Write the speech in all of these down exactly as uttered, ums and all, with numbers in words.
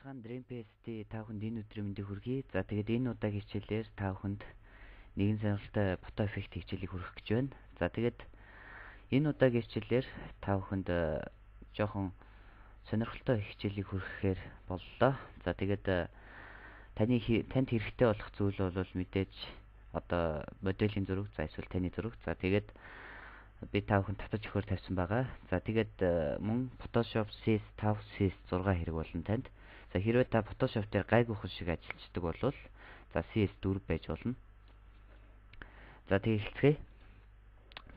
сайхан DreamPaste та бүхэнд энэ өдрийн мэндийг хүргэе. За тэгээд энэ удаагийн хичээлээр та бүхэнд нэгэн сонирхолтой фото эффект хичээлийг хүргэх гэж байна. За тэгээд энэ удаагийн хичээлээр та бүхэнд жоохон сонирхолтой хичээлийг хүргэхээр боллоо. За тэгээд таны танд хэрэгтэй болох зүйл бол мэдээж одоо моделийн зураг, за эсвэл таны зураг. За тэгээд би та бүхэнд татаж өгөхөөр тавьсан байгаа. За тэгээд мөн Photoshop си эс файв, си эс сикс хэрэг болон танд. За хэрвээ та Photoshop дээр гайгүйхан шиг ажиллаждаг бол за си эс фор байж болно. За тэгээд эхэлцгээе.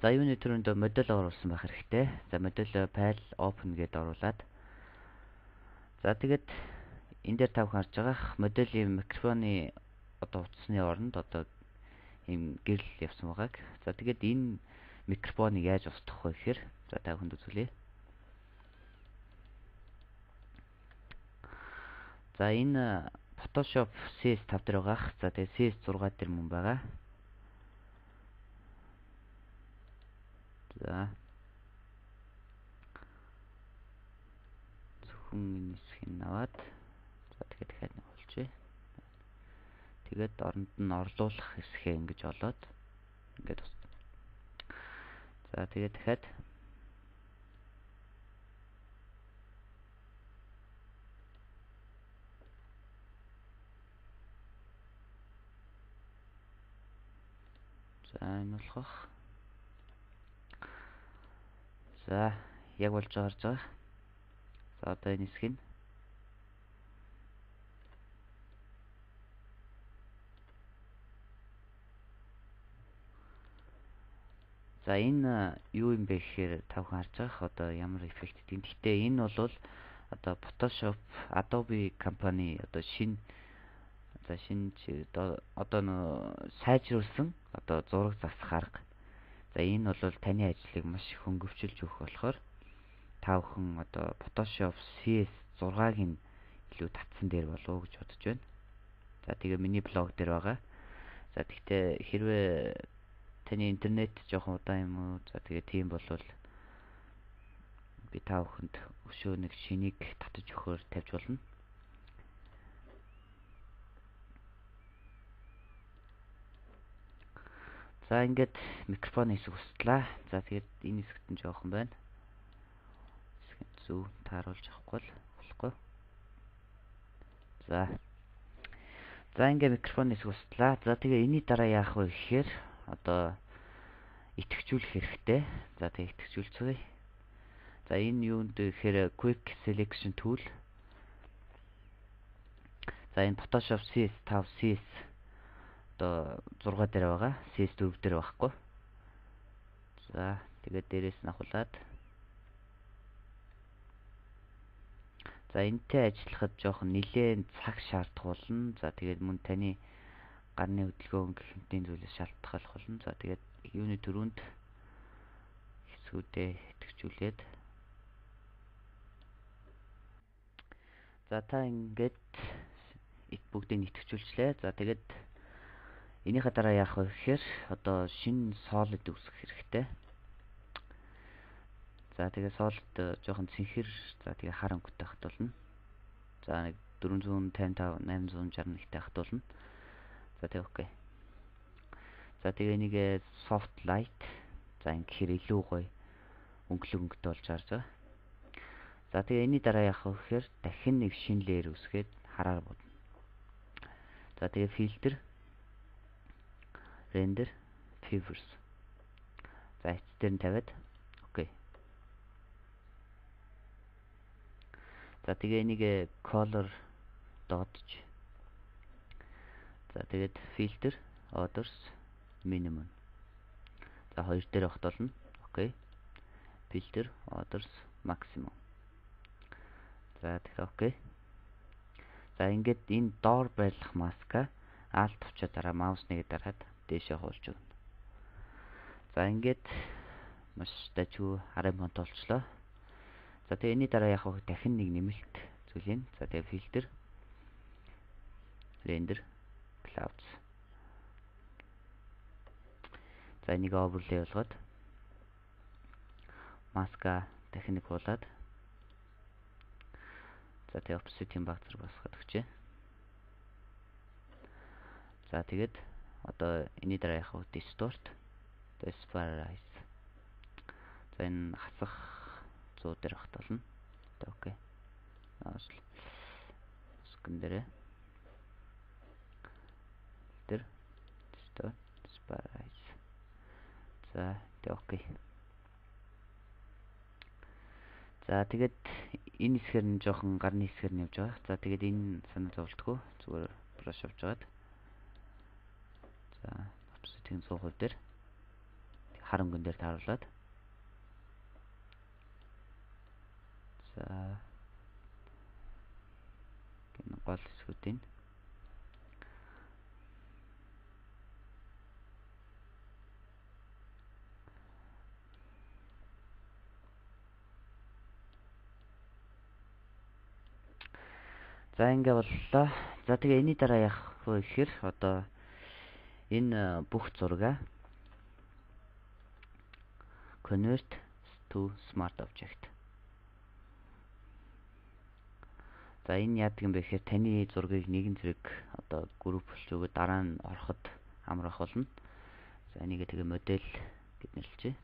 За юуны төрөнд модель оруулсан байх хэрэгтэй. За модель file open гэдээ оруулаад. За тэгээд энэ дээр та бүхэн харж байгаа моделийн микрофоны одоо утасны оронд одоо ийм гэрэл явсан байгааг. За тэгээд энэ микрофоныг яаж устгах вэ гэхээр за та бүхэнд үзүүлье. За энэ Photoshop си эс файв дээр байгаа. За тэгээ си эс сикс дээр мөн байгаа. За зөвхөн энэ хэсгийг аваад за тэгээд дахиад нэг болчихъя. Тэгээд оронд нь орлуулах хэсгээ ингэж олоод ингээд ус. За тэгээд дахиад за энэ болох. За яг болж байгаа харж байгаа. За одоо энэ хэсгийг за энэ юу юм бэ гэхээр та бүхэн харж байгаа одоо ямар эффект гэдэг. Гэхдээ энэ бол одоо Photoshop Adobe компани одоо шинэ за шинэ одоо нөө сайжруулсан одоо зураг засах арга. За энэ бол таны ажлыг маш их хөнгөвчилж өгөх болохоор та бүхэн одоо Photoshop си эс сиксыг илүү татсан дээр болов уу гэж бодож байна. За тэгээ миний блог дээр байгаа. За тэгтээ хэрвээ таны интернет жоохон удаан юм уу? За тэгээ тийм болвол би та бүхэнд өшөө нэг шинийг татаж өгөхөөр тавьж болно. За ингээд микрофоны хэсэг устлаа. За тэгээд энэ хэсэгт нь жоохон байна. Хэсгийг зөв тааруулж авахгүй л болохгүй. За. За ингээд микрофоны хэсэг устлаа. За тэгээ энэний дараа яах вэ гэхээр одоо итгэжүүлэх хэрэгтэй. За тэгээ итгэжүүлцгээе. За энэ юунд гэхээр Quick Selection Tool. За энэ Photoshop си эс файв, си эс одоо сикс дээр байгаа. си эс фор дээр байхгүй. За тэгээд дээрээс нь авахлаад за энэтэй ажиллахад жоохон нэлээд цаг шаардах болно. За тэгээд мөн таны гарны хөдөлгөөн гэх мэтийн зүйлээс шалтгаалх болно. За тэгээд юуны төрөнд хэсгүүдээ итгэжүүлээд за та ингээд бүгдийг итгэжүүлчлээ. За тэгээд энийхээ дараа яах вэ гэхээр одоо шинэ solid үүсгэх хэрэгтэй. За тэгээ solid жоохон цэнхэр за тэгээ хар өнгөтэй хат болно. За нэг дөрвөн тавин тав, найман шалгах нэгтэй хат болно. За тэгээ окей. За тэгээ энийг soft light за ингэхээр илүү гоё өнгөлөг өнгөтэй болж харж байгаа. За тэгээ энэний дараа яах вэ гэхээр дахин нэг шинэ layer үүсгээд хараар бодно. За тэгээ filter render fibers. За эцгээр нь тавиад окей. За тэгээ энийг color додж. За тэгээд filter orders minimum. За хоёр дээр багт болно. Окей. Filter orders maximum. За тэгээ окей. За ингээд энэ доор байлгах маска alt төвчөө дараа маус нэгэ дараад дээшээ хуулж өгнө. За ингээд маш дажгүй харын фонт болчлоо. За тэгээ энэний дараа яах вэ? Дахин нэг нэмэлт зүйл юм. За тэгээ filter render clouds. За энийг overlay болгоод маска дахин нэг хуулаад За тэгээ opposite-ийн баг зэрэг басгаад өгчээ. За тэгээд одоо энэний дараа яах вэ? Distort, Disperse. За энэ хасах зүү дээр багт болно. Окей. Аашлаа. Скэн дээр. Тэр Distort, Disperse. За тэг окей. За тэгээд энэ хэсгээр нь жоохон гарны хэсгээр нь явж байгаа. За тэгээд энэ санаа зовлтгүй зүгээр brush авч жагаад. За opposite-ийн суу хувь дээр харангуун дээр тааруулаад. За энэ гол хэсгүүдийн за ингээ боллоо. За тэгээ энэний дараа яах вэ гэхээр одоо энэ бүх зургаа convert to smart object. За энэ яадаг юм бэ гэхээр таны зургийг нэгэн зэрэг одоо групп болж өгөөд дараа нь ороход амрах болно. За энийг тэгээ модель гэд нэрлэжээ.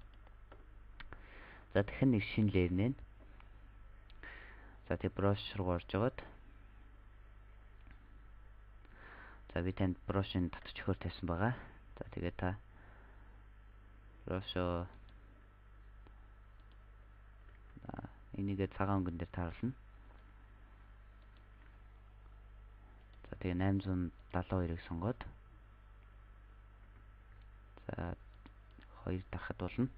За дахин нэг шинэ layer нэ. За тэгээ brush руу орж жагаад. За би танд brush-ын татвч өхөр тавьсан байгаа. За тэгээ та brush-оо энийгээ цагаан өнгөн дээр тааруулна. За тэгээ найман залуу хоёрыг сонгоод. За хоёр дарахад болно.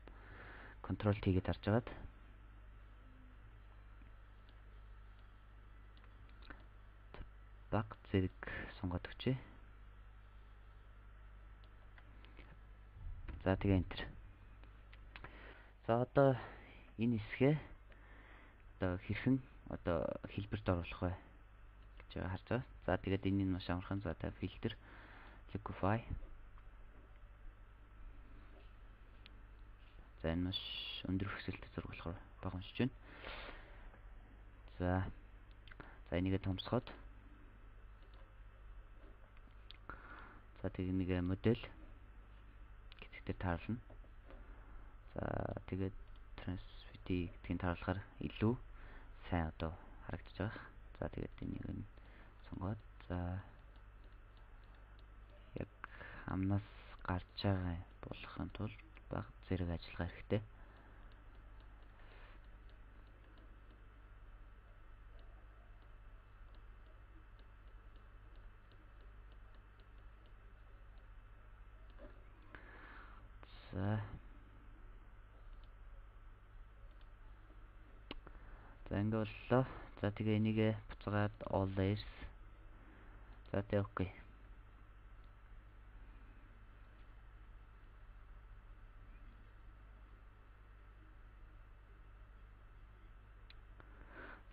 Control T-гээ дарж агаад. Баг зэрэг сонгоод өгчээ. За тэгээ enter. За одоо энэ хэсгээ одоо хэрхэн одоо хэлбэрт оруулах вэ гэж харж байгаа. За тэгээд энэ нь маш амархан. За та filter, liquify. За энэ маш өндөр хүсэлтэй зураг болохоор бага уншиж байна. За за энийгээ томсгоод. За тэгээд нэг модель гэдэгтэр тааруулна. За тэгээд transvity гэдгийг тааруулахаар илүү сайн одоо харагдаж байгаа. За тэгээд энийг нь сонгоод. За яг амнаас гарч байгаа болохын тулд баг зэрэг ажиллагаа хэрэгтэй. За За ингээ боллоо. За тэгээ энийгээ буцаагаад all layers. За тэгээ окей.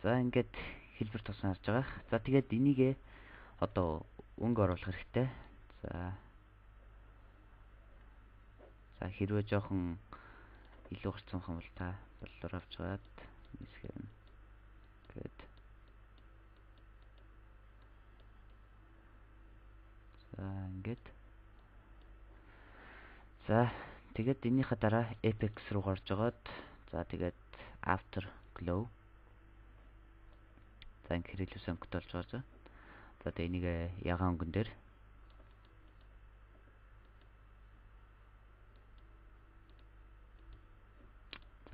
За ингээд хэлбэр тусан харж байгаа. За тэгээд энийгээ одоо өнгө оруулах хэрэгтэй. За За хэрвээ жоохон илүү гарцсан юм бол та боллоор авч гаад нисгэр нь гээд. За ингээд. За тэгээд энийхээ дараа Apex руу гарч агаад за тэгээд Afterglow. За ингээд илүү сонгогдож байгаа. За тэгээд энийг ягаан өнгөн дээр.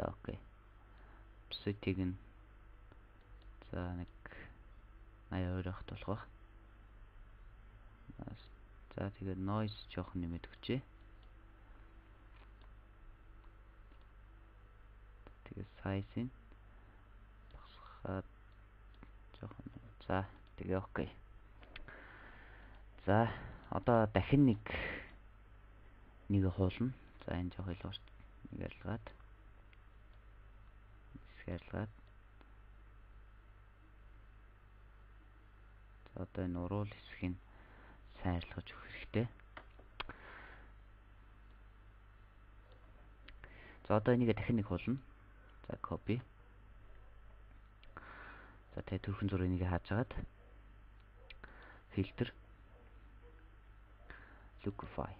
За окей. Setting нь за нэг аяа өрөх болох. За тэгээд noise жоохон нэмээд өгчээ. Тэгээд size-ийг багасгаад жоохон. За тэгээ окей. За одоо дахин нэг нэг хуулна. За энэ жоох илүү нэг ялгаад. Ялгаад. За одоо энэ уруул хэсгийг сайн арилгаж өгөх хэрэгтэй. За одоо энийг дахин нэг хуулна. За copy. За тэгээ төрхөн зургийг нэг хаажгаад filter Lookify.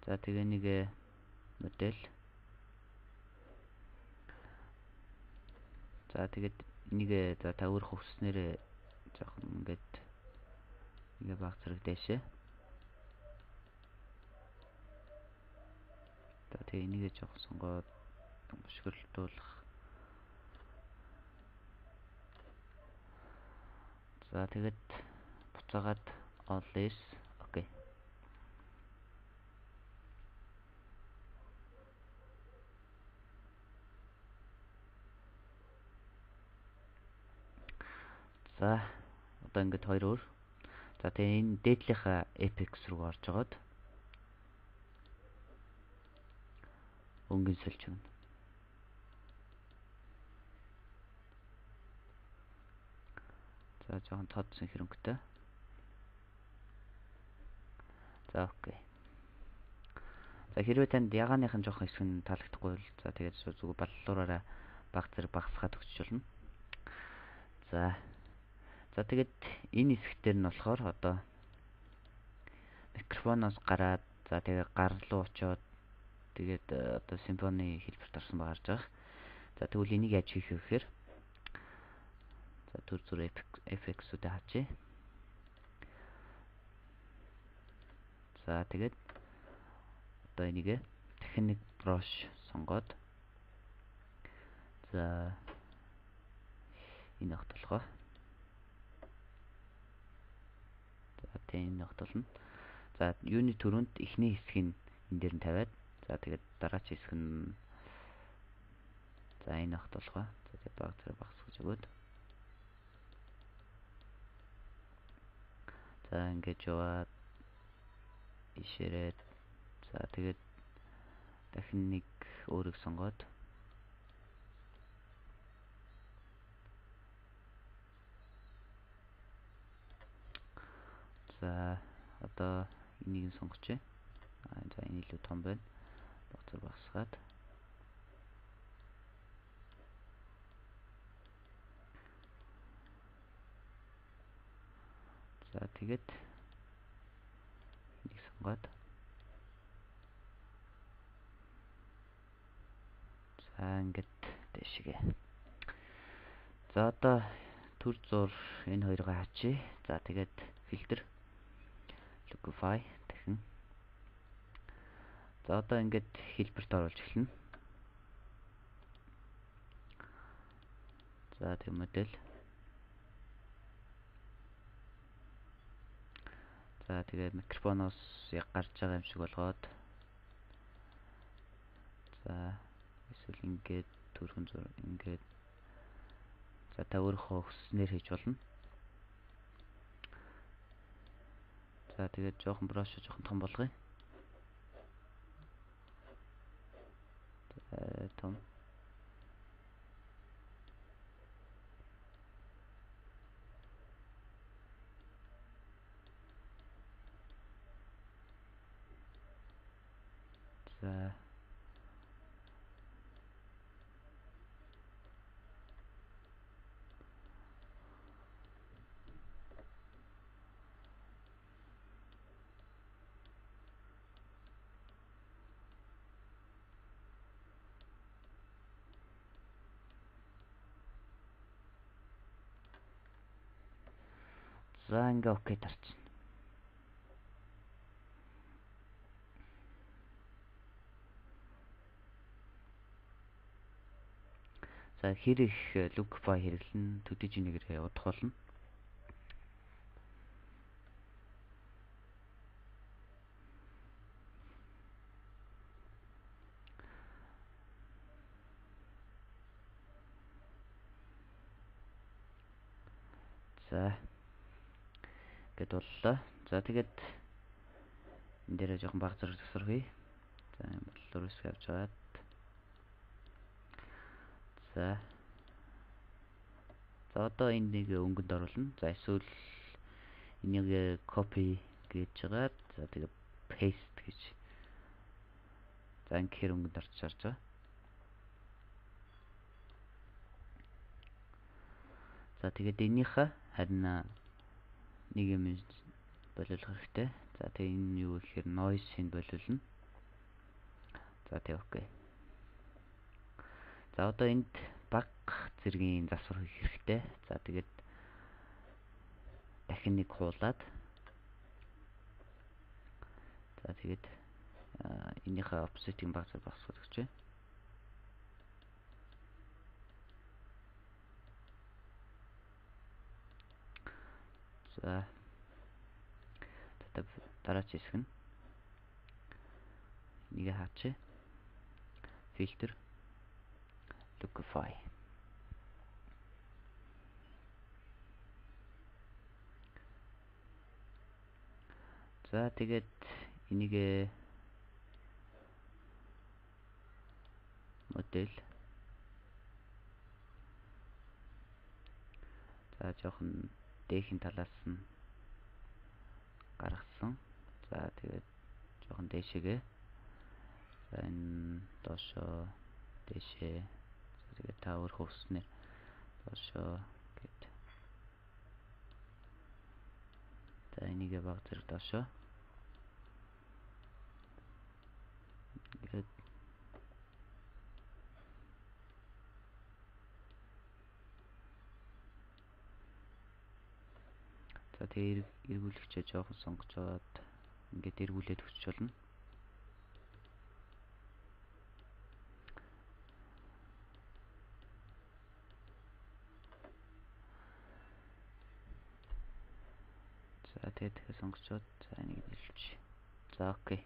За тэгээ нэг модель. За тэгээд нэг за та өөрийнхөө хүснээр жоохон ингээд ингээ баг зэрэг дэшээ. За тэгээ энийг жоохон сонгоод бошгирлуулах. За тэгээд буцаагаад all is окей. За одоо ингээд хоёр өөр. За тэгээ энэ дээдлийнхаа apex руу орж жагаад өнгөн сэлж өгнө. За жоохон тоодсон хөрөнгөтэй. За окей. За хэрвээ танд ягааныхан жоохон хэсэг нь таалагдахгүй бол за тэгээд зүгээр баллуураараа баг зэрэг багасгаад өгч болно. За За тэгээд энэ хэсгээр нь болохоор одоо микрофоноос гараад за тэгээд гар руу очоод тэгээд одоо симфони хэлбэрт орсон байгаа харж байгаа. За тэгвэл энийг яаж хийх вэ гэхээр за төр зүр эффектсүүдээ хачээ. За тэгээд одоо энийг дахин нэг бруш сонгоод за энэ огтлохоо энэ нотолно. За юуны төрөнд эхний хэсгийг энэ дээр нь тавиад за тэгээд дараач хэсэг нь за энэ огт болгоо. За тэгээд баг зэрэг багсгаж өгөөд. За ингэж яваад ишээрээд за тэгээд дахин нэг өөрийг сонгоод за одоо энийг сонгоч. Аа за энэ илүү том байна. Багцар багсгаад. За тэгээд энийг сонгоод. За ингээд дэшгээ. За одоо төр зур энэ хоёроо хачи. За тэгээд filter Lookify дахин. За одоо ингээд хэлбэрт оруулж эхэлнэ. За тэг модель. За тэгээ микрофоноос яг гарч байгаа юм шиг болгоод. За эсвэл ингээд төрхөн зур ингээд. За та өөрийнхөө хүснээр хийж болно. За тэгээд жоохон бруш жоохон том болгоё. За том. За За ингээ окей тарчна. За хэр их Lookify хэрэглэн төдий жинэгээр удах болно. За гэд боллоо. За тэгээд энэ дээр жоохон баг зэрэг тасархъя. За бодлоор үсг авч аваад. За. За одоо энэ нэг өнгөнд оруулна. За эсвэл энийг copy гэж жагаад за тэгээд paste гэж. За ингэхээр өнгөнд орж шарж байгаа. За тэгээд энийхээ харин нэг юм болиулах хэрэгтэй. За тэгээд энэ юу гэхээр noise-ийг болиулна. За тэгээд окей. За одоо энд баг зэргийн засвар хийх хэрэгтэй. За тэгээд дахин нэг хуулаад. За тэгээд энийхээ offset-ийг баг зэрэг багасгах гэж байна. За дараач хэсэг нь энийг хаачих. Filter Lookify. За тэгээд энийг модель за жоохон дээхийн талаас нь гаргасан. За тэгээд жоохон дээшээгээ. За энэ доошоо дээшээ. Тэгээд та өөр хөвснээр доошоо гэд. За энийг баг зэрэг доошоо. Гэд. За тэгээд эргүүлэгчээ жоохон сонгочоод ингээд эргүүлээд өгч болно. За тэгээд тэгэхээр сонгочоод за энийг хэлчих. За окей.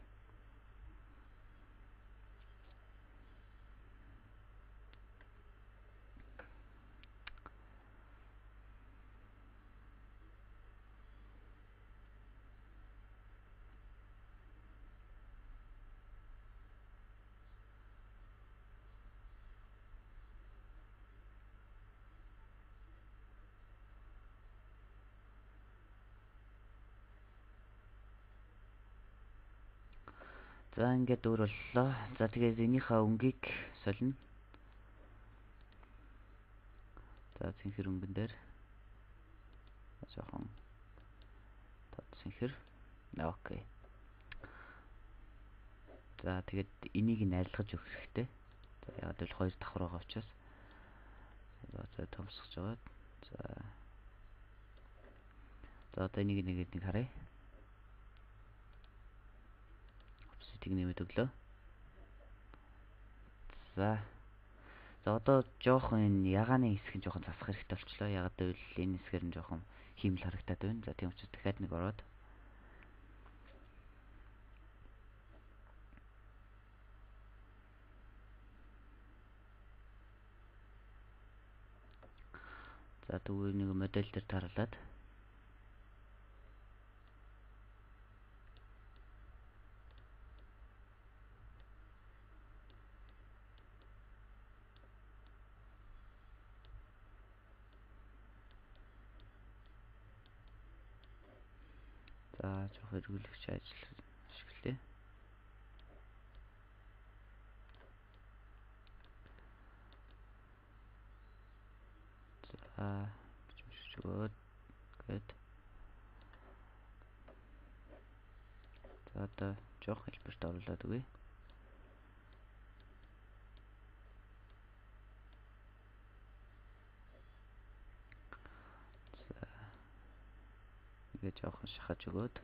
За ингээд өөр боллоо. За тэгээд энийхээ өнгийг солино. За цэнхэр өнгөн дээр жоохон тод цэнхэр. Окей. За тэгээд энийг нь арилгаж өгөх хэрэгтэй. За ягаад гэвэл хоёр давхар байгаа учраас. За томсгож байгаа. За. За одоо энийг нэг нэг харъя. Offset-ийг нэмээд өглөө. За. За одоо жоохон энэ ягааны хэсэг нь жоохон засах хэрэгтэй болчлоо. Ягаад гэвэл энэ хэсгээр нь жоохон хиймэл харагдаад байна. За тийм учраас дахиад нэг ороод. За тэгвэл нэг модель дээр тааруулаад. За жоох эргүүлэгч ажил ашиглая. За чимшиж өгөөд гээд. За одоо жоох хэлбэрт оруулаад өгье. За ингээд жоохон шахаж өгөөд.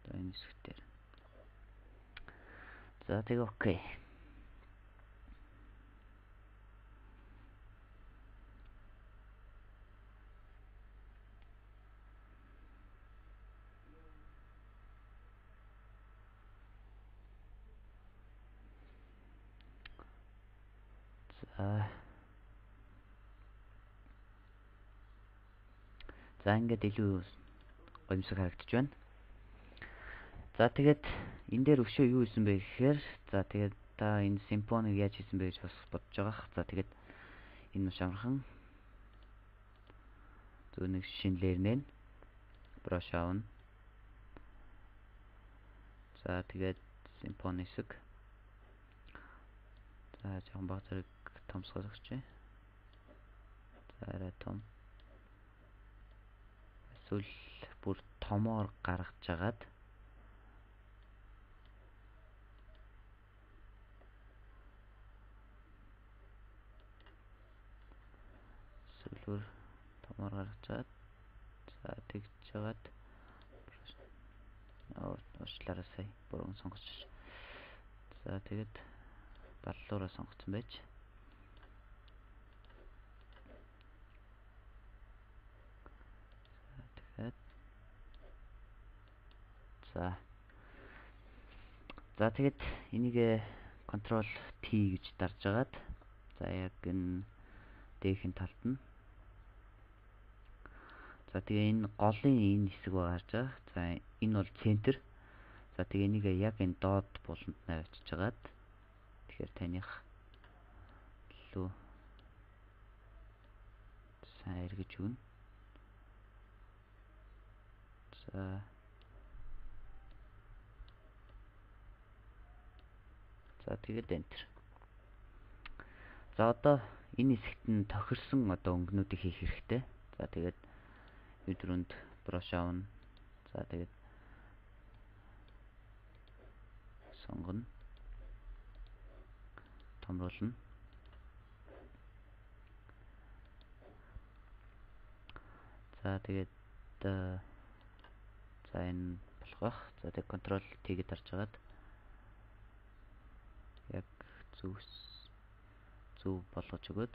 За энэ хэсгээр. За тэгээ окей. За. За ингээд илүү гомсог харагдаж байна. За тэгээд энэ дээр өшөө юу хийсэн бэ гэхээр за тэгээд та энэ симфонийг яаж хийсэн бэ гэж бас бодож байгаа. За тэгээд энэ маш амархан зөв нэг шинэлэр нэ бруш аавна. За тэгээд симфони хэсэг. За жоохон баг зэрэг томсгох гэж байна. За арай том. Эсвэл бүр томоор гаргаж жагаад эсвэл томоор гаргаж жагаад за тэгж жагаад оо уучлаарай сая бүрэн сонгож. За тэгээд баллуураа сонгоцсон байж. За тэгээд за За тэгээд энийг контрол T гэж дарж агаад за яг энэ дээхэн талд нь за тэгээ энэ голын энэ хэсэг гарч байгаа. За энэ бол центр. За тэгээ энийг яг энэ доод буланд нь авчиж агаад тэгэхээр таних лөө сайн эргэж өгнө. За За тэгээд enter. За одоо энэ хэсэгт нь тохирсон одоо өнгөнүүдийг хийх хэрэгтэй. За тэгээд өдрөнд брош авна. За тэгээд сонгоно. Томруулна. За тэгээд за энэ болох байх. За тэгээд контрол T-ийг дарж агаад яг зөв зөв болгож өгöd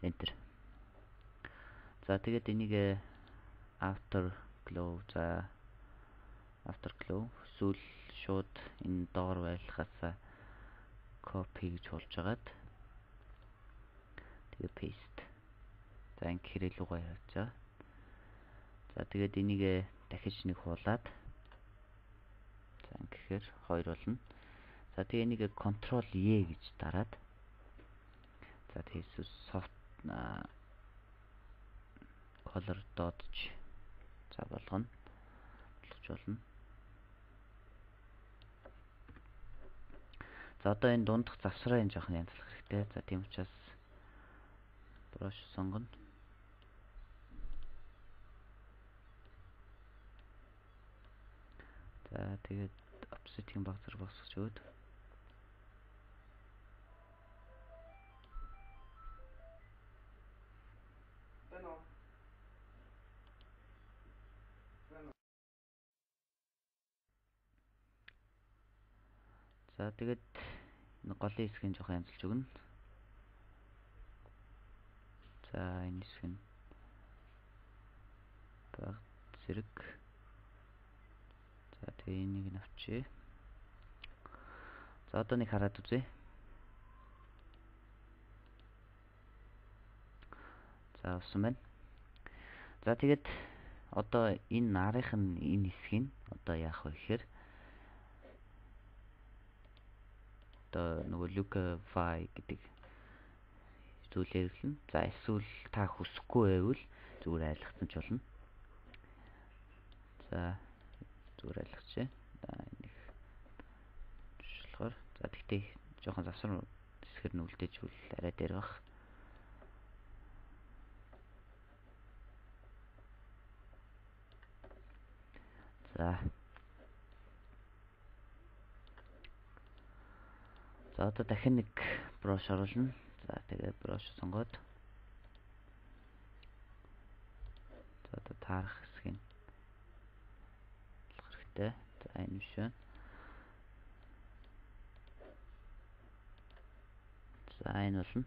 enter. За тэгээд энийг after glow за after glow эсвэл шууд энэ доор байлгахаас copy гэж болж агаад тэгээд paste. За ингэ хэрэг рүү гаргаж байгаа. За тэгээд энийг дахиж нэг хуулаад за ингэхээр хоёр болно. За тэгээ энийг control E гэж дараад за тэгээд soft color dodge за болгоно. Болгож болно. За одоо энэ дундах завсраа энэ жоохон янзлах хэрэгтэй. За тийм учраас brush сонгоно. За тэгээд offset-ийн баг зэрэг босгож өгöd. За тэгээд энэ голын хэсгийг жоохон янзлж өгнө. За энэ хэсэг нь баг зэрэг. За тэгээ энийг нь авчие. За одоо нэг хараад үзье. За авсан байна. За тэгээд одоо энэ нарийнх нь энэ хэсгийг одоо яах вэ гэхээр одоо нөгөө Lookify гэдэг зүйлээр хэлнэ. За эсвэл та хүсэхгүй байвал зүгээр айлгацсан ч болно. За зүгээр айлгацъя. За энийг жишээлбэл за тэгтээ жоохон завсар хэсгэр нь үлдээж үл арай дээр бах. За За одоо дахин нэг брош оруулна. За тэгээд брош сонгоод за одоо таарах хэсгийг болох хэрэгтэй. За энэ биш байна. За энэ болно.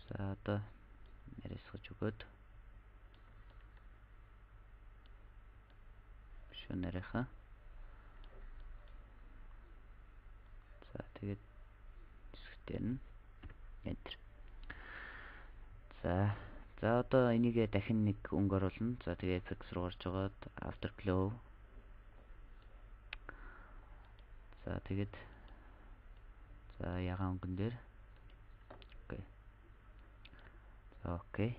За одоо нэрсгэж өгöd. Биш нэрхаа. За тэгээд хэсэгтэр нь enter. За за одоо энийг дахин нэг өнгө оруулна. За тэгээд effects руу орж агаад afterglow. За тэгээд за ягаан өнгөн дээр. Окей. За окей.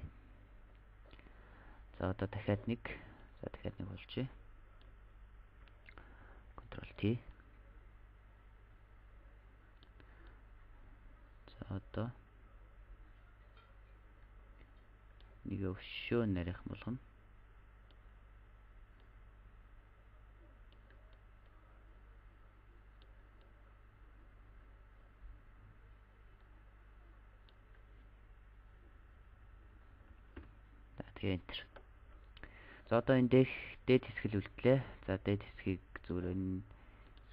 За одоо дахиад нэг. За дахиад нэг болчихъя. Control T. одоо нэг өвшөө нарийнх болгоно. За тэгээ энтер. За одоо энэ дэх дээд хэсгэл үлдлээ. За дээд хэсгийг зүгээр энэ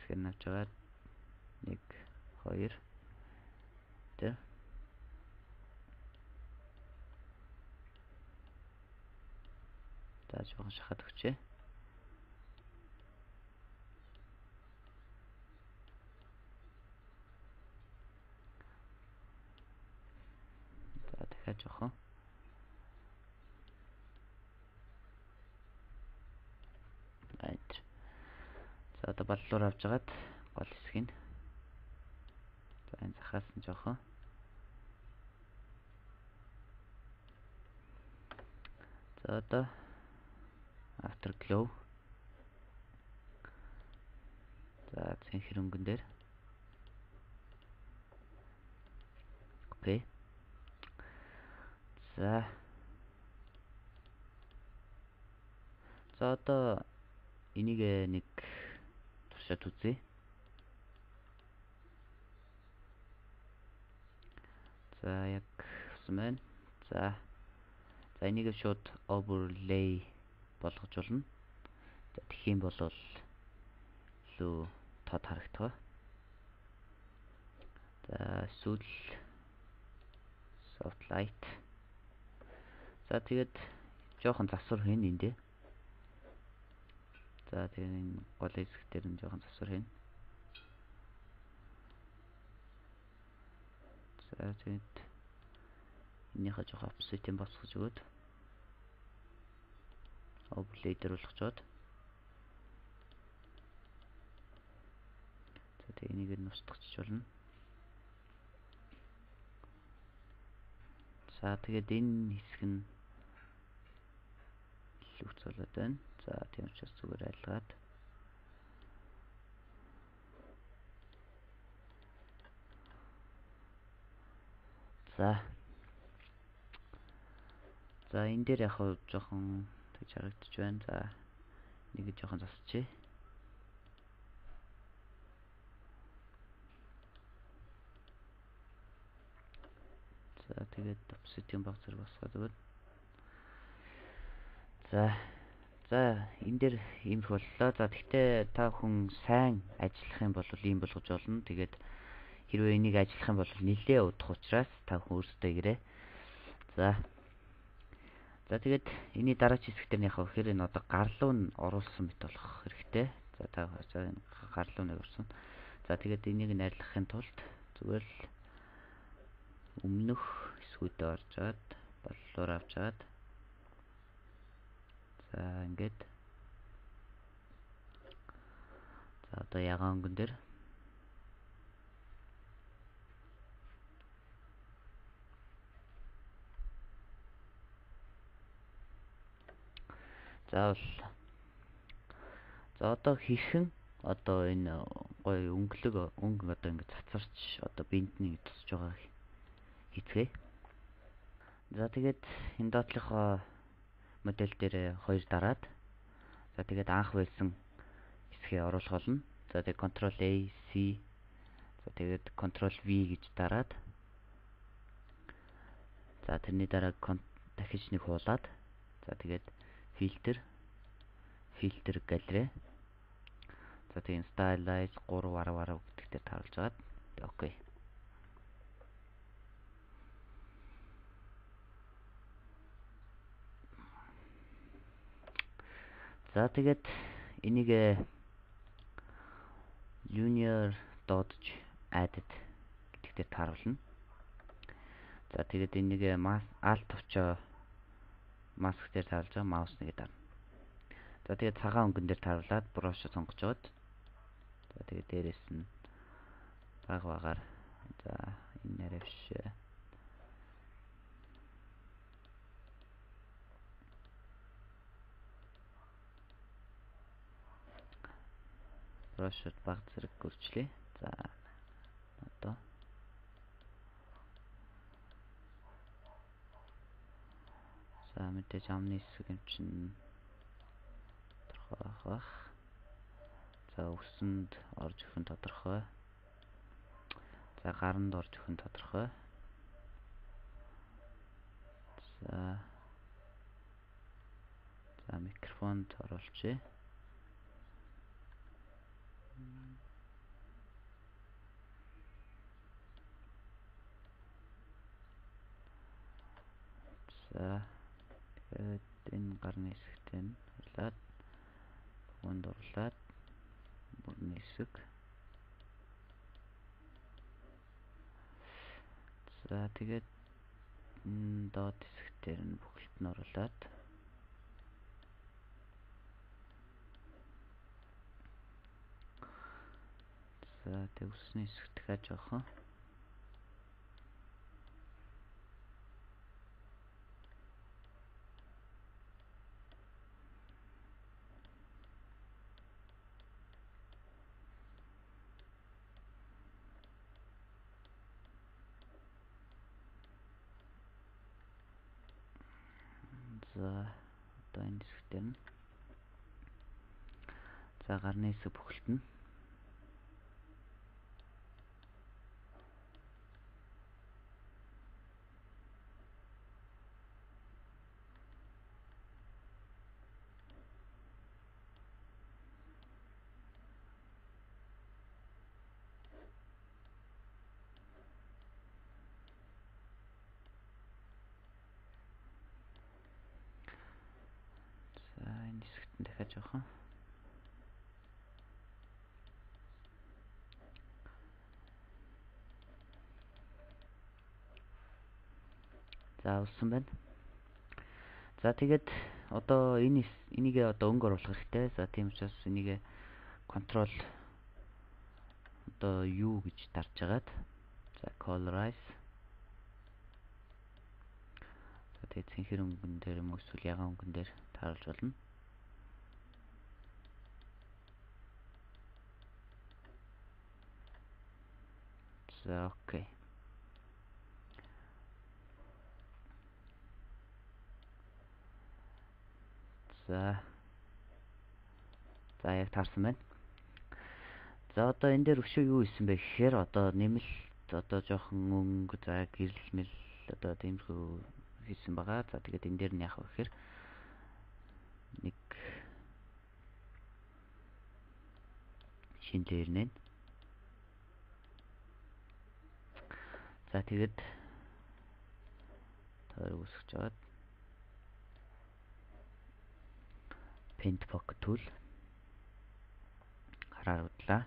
хэсгээр нь авч аваад нэг хоёр тэ. За жоохон шахаад өгчээ. За дахиад жоохон. Айд. За одоо баллуур авч агаад гол хэсгийг. За энэ захаас нь жоохон. За одоо afterglow. За цэн хөрөнгөн дээр. Окей. За. За одоо энийг нэг туршаад үзье. За яг гэсэн байна. За. За энийг шууд overlay болгож болно. За тэгэх юм бол лөө тод харагдах. За эсвэл soft light. За тэгээд жоохон засвар хийн эндээ. За тэгээд энэ гол хэсэг дээр нь жоохон засвар хийн. За тэгээд энийхээ жоохон opposite-ийн босгож өгөөд overlay дээр болгочоод. За тэгээд энийг нь устгахч болно. За тэгээд энэ хэсэг нь лүгц болоод байна. За тийм учраас зүгээр айлгаад. За. За энэ дээр яг хав жоохон тэгж харагдаж байна. За нэг жоохон засчихъя. За тэгээд opposite-ийн баг зэрэг босгоод өгöd. За. За энэ дээр ийм их боллоо. За тэгтээ та хүн сайн ажиллах юм бол ийм болгож болно. Тэгээд хэрвээ энийг ажиллах юм бол нэлээ удах учраас та хүн өөрсдөө ирээ. За. За тэгээд энэний дараач хэсэг дээр яг хэрэг энэ одоо гарлуу нь оруулсан мэт болох хэрэгтэй. За та гарлуу нэг орсон. За тэгээд энийг найрлахын тулд зүгээр л өмнөх хэсгүүдэд орж аваад баллуур авч аваад за ингээд за одоо ягаан өнгөн дээр заавал за одоо хэрхэн одоо энэ гоё өнгөлөг өнгө одоо ингээд цацарч одоо бинтний тусч байгаа хийцгээ. За тэгээд энэ доотлохоо модель дээр хоёр дараад за тэгээд анх байсан хэсгээ оруулах болно. За тэгээд control A C за тэгээд control V гэж дараад за тэрний дараа дахиж нэг хуулаад за тэгээд filter filter gallery за тэгээд stylize three вар вар гэдэг дээр тааруулж агаад окей. За тэгээд энийг linear dodge added гэдэг дээр тааруулна. За тэгээд энийг alt авчаа mask дээр тааруулж байгаа mouse нэгэ дарна. За тэгээд цагаан өнгөн дээр тааруулаад brush сонгож аваад за тэгээд дээрээс нь баг багаар за энэ нэрээ биш brush баг зэрэг гөрчлээ. За одоо мэдээж амны хэсэг юм чинь тодорхой байх. За өсөнд орж ирэх нь тодорхой. За гаранд орж ирэх нь тодорхой. За За микрофонд оруулчихъя. За тэгээд энэ гарны хэсэгт нь орлаад бүхэнд орлаад мөрний хэсэг. За тэгээд доод хэсэгтэр нь бүхэлд нь оруулаад за тэг үсний хэсэгт дахиад жоохон за одоо энэ хэсэгтэр нь за гарны хэсэг бүхэлд нь за энэ хэсэгт нь дахиад жоохон за усан байна. За тэгээд одоо энэ энийг одоо өнгө оруулах хэрэгтэй. За тийм учраас энийг control одоо U гэж дарж агаад за colorize за тэгээд цэнхэр өнгөн дээр юм эсвэл ягаан өнгөн дээр тааруулж болно. За окей. За За яг таарсан байна. За одоо энэ дээр өшөө юу исэн бэ гэхээр одоо нэмэлт одоо жоохон өнгө за гэрэлмэл одоо тиймэрхүү хийсэн байгаа. За тэгээд энэ дээр нь яах вэ гэхээр нэг шинэ дээр нэ. За тэгээд тойрог үсгэж аваад paint pocket tool хараарууллаа.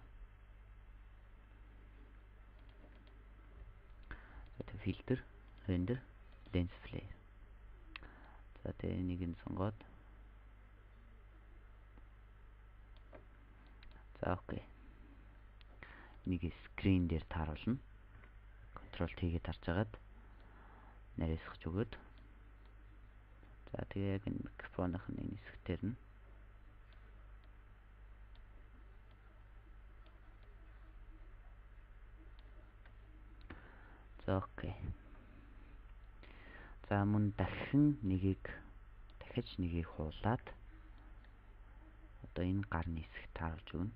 За тэгээд filter, render, lens flare. За тэгээд энийг нь сонгоод за окей. Энийг screen дээр тааруулна. Control T-гээ тарж агаад нарийсгаж өгөөд за тэгээд яг энэ микрофоных нь энэ хэсгээр нь за окей. За мөн дахин нэгийг дахиж нэгийг хуулаад одоо энэ гарны хэсэг тааруулж өгнө.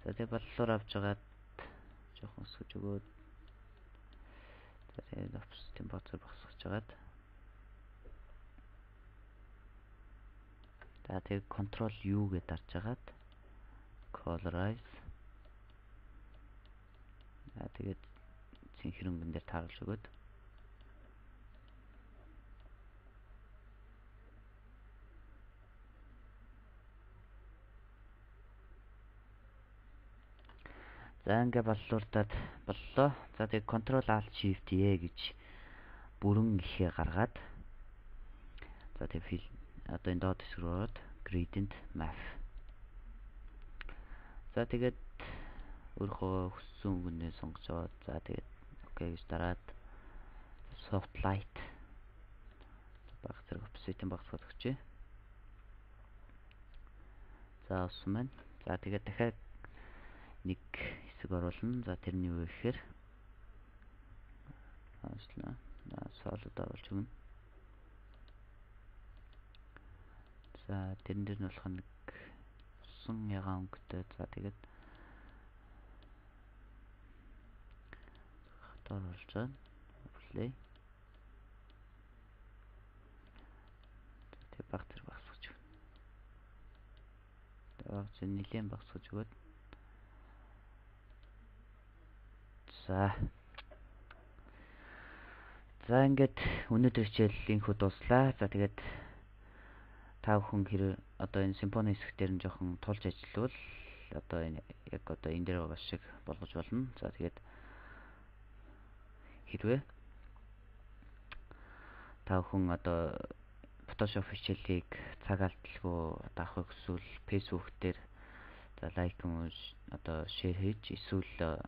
За тэгээд бодлоор авч агаад жоохон өсгөж өгөөд за тэгээд офс температур босгож агаад за тэгээд control U гэж дарж агаад colorize за тэгээд цэнхэр өнгөн дээр тааруулж өгөөд за ингээ боллуулдаад боллоо. За тэгээд control alt shift E гэж бүрэн ихээ гаргаад за тэгээд одоо энэ доод хэсэг рүү ороод gradient map. За тэгээд өөрийнхөө хүссэн өнгөнөө сонгож аваад за тэгээд окей гэж дараад soft light баг зэрэг opacity багсгах өгчээ. За усан байна. За тэгээд дахиад нэг хэсэг оруулна. За тэрний юу гэхээр аашлаа. За солид оруулж өгнө. За тэрэн дээр нь болох нэг усан ягаан өнгөтэй. За тэгээд хатаар болж байна. Play. Тэгээд баг зэрэг багсгаж өгнө. Тэгээд зөв нэлээд багсгаж өгөөд. За. За ингээд өнөөдөр хичээлийнхүү дуслаа. За тэгээд та бүхэн хэрэг одоо энэ симфони хэсэг дээр нь жоохон тулж ажиллавал одоо энэ яг одоо энэ дээр байгаа шиг болгож болно. За тэгээд хэрвээ та бүхэн одоо Photoshop хичээлийг цаг алдалгүй одоо авахыг хүсвэл Facebook дээр за лайк одоо шеэр хийж эсвэл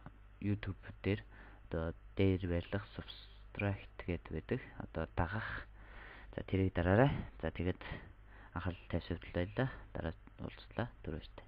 YouTube дээр одоо дээр байрлах subscribe гэдэг байдаг. Одоо дагах. За тэрийг дараарай. За тэгээд анхаарал тавьсавдлаа. Дараа уулзлаа. Түр баяртай.